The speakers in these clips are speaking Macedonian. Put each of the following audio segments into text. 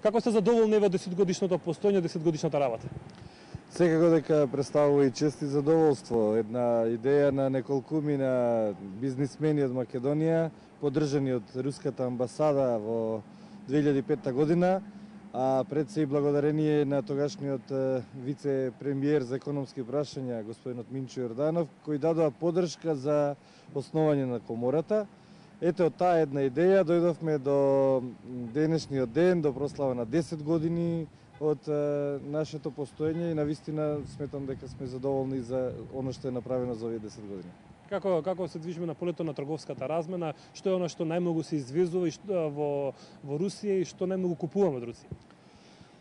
Како сте задоволни во 10-годишното постоење, 10-годишната работа? Секако дека представува и чест и задоволство. Една идеја на неколкумина бизнисмени од Македонија, поддржани од Руската амбасада во 2005 година, а пред се и благодарение на тогашниот вице-премиер за економски прашања, господинот Минчо Јорданов, кој дадоа поддршка за основање на комората. Ете, од таа една идеја дојдовме до денешниот ден, до прослава на 10 години од нашето постоење и навистина сметам дека сме задоволни за оно што е направено за овие 10 години. Како се движиме на полето на трговската размена, што е она што најмногу се извезува во Русија и што најмногу купуваме од Русија?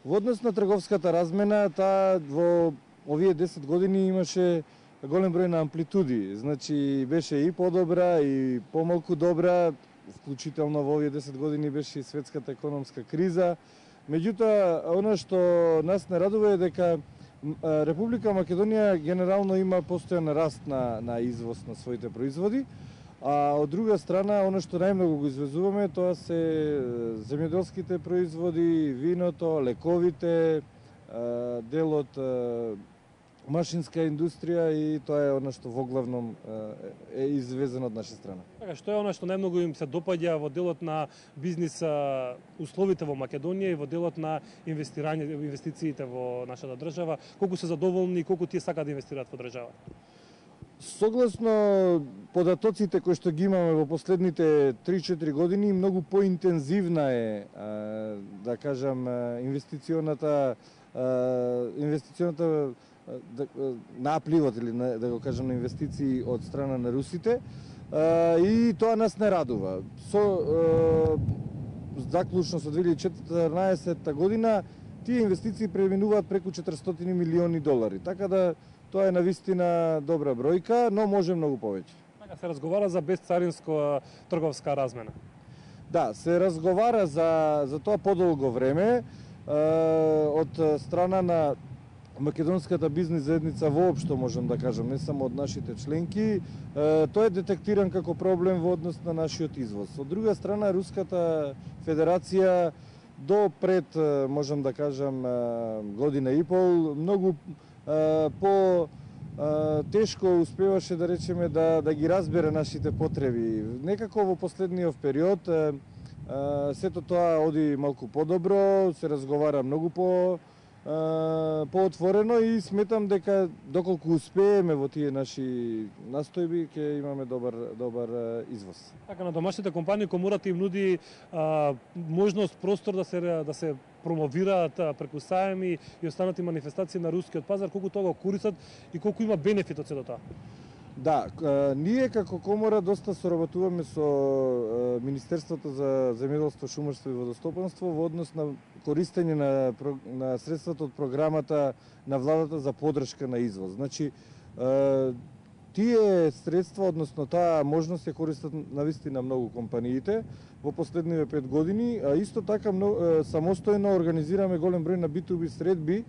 Во однос на трговската размена, таа во овие 10 години имаше голем број на амплитуди, значи беше и подобра и помалку добра, вклучително во овие 10 години беше и светската економска криза. Меѓутоа, она што нас не радува е дека Република Македонија генерално има постојан раст на извоз на своите производи, а од друга страна, оно што најмногу го извезуваме, тоа се земјоделските производи, виното, лековите, дел од машинска индустрија и тоа е она што воглавном е извезено од наша страна. Така, што е она што најмногу им се допаѓа во делот на бизнис условите во Македонија и во делот на инвестициите во нашата држава, колку се задоволни и колку тие сакаат да инвестираат во државата? Согласно податоците кои што ги имаме во последните 3-4 години, многу поинтензивна е, да кажам, инвестиционата напливот или да го кажам на инвестиции од страна на русите и тоа нас не радува. Заклучно со 2014 година тие инвестиции преминуваат преку 400 милиони долари, така да тоа е навистина добра бројка, но може многу повеќе. Така се разговара за безцаринска трговска размена. Да, се разговара за тоа подолго време од страна на македонската бизнис заедница воопшто, можам да кажам, не само од нашите членки, тој е детектиран како проблем во однос на нашиот извоз. Од друга страна, Руската Федерација до пред, можам да кажам, година и пол, многу тешко успеваше, да речеме, да ги разбере нашите потреби. Некако во последниот период сето тоа оди малку подобро, се разговара многу поотворено и сметам дека доколку успееме во тие наши настојби ќе имаме добар извоз. Така, на домашните компании комората им нуди можност, простор да се промовираат преку саеми и останати манифестации на рускиот пазар, колку тоа го користат и колку има бенефит од сето тоа. Да, ние како комора доста соработуваме со Министерството за земјоделство, шумарство и водостопанство во однос на користење на средствата од програмата на владата за поддршка на извоз. Значи, тие средства, односно таа можност ја користат навистина многу компаниите во последниве 5 години, а исто така самостојно организираме голем број на B2B средби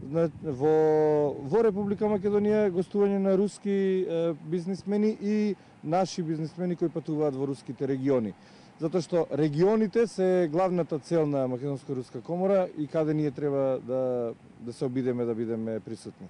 во Република Македонија, гостување на руски бизнисмени и наши бизнисмени кои патуваат во руските региони. Затоа што регионите се главната цел на Македонско-руска комора и каде ние треба да се обидеме да бидеме присутни.